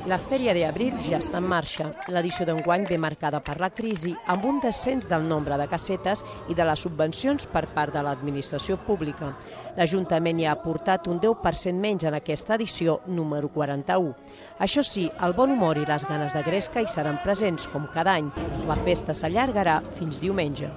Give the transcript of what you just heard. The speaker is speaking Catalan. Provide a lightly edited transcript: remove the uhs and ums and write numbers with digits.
La Fèria d'Abril ja està en marxa. L'edició d'enguany ve marcada per la crisi, amb un descens del nombre de casetes i de les subvencions per part de l'administració pública. L'Ajuntament hi ha aportat un 10% menys en aquesta edició número 41. Això sí, el bon humor i les ganes de gresca hi seran presents, com cada any. La festa s'allargarà fins diumenge.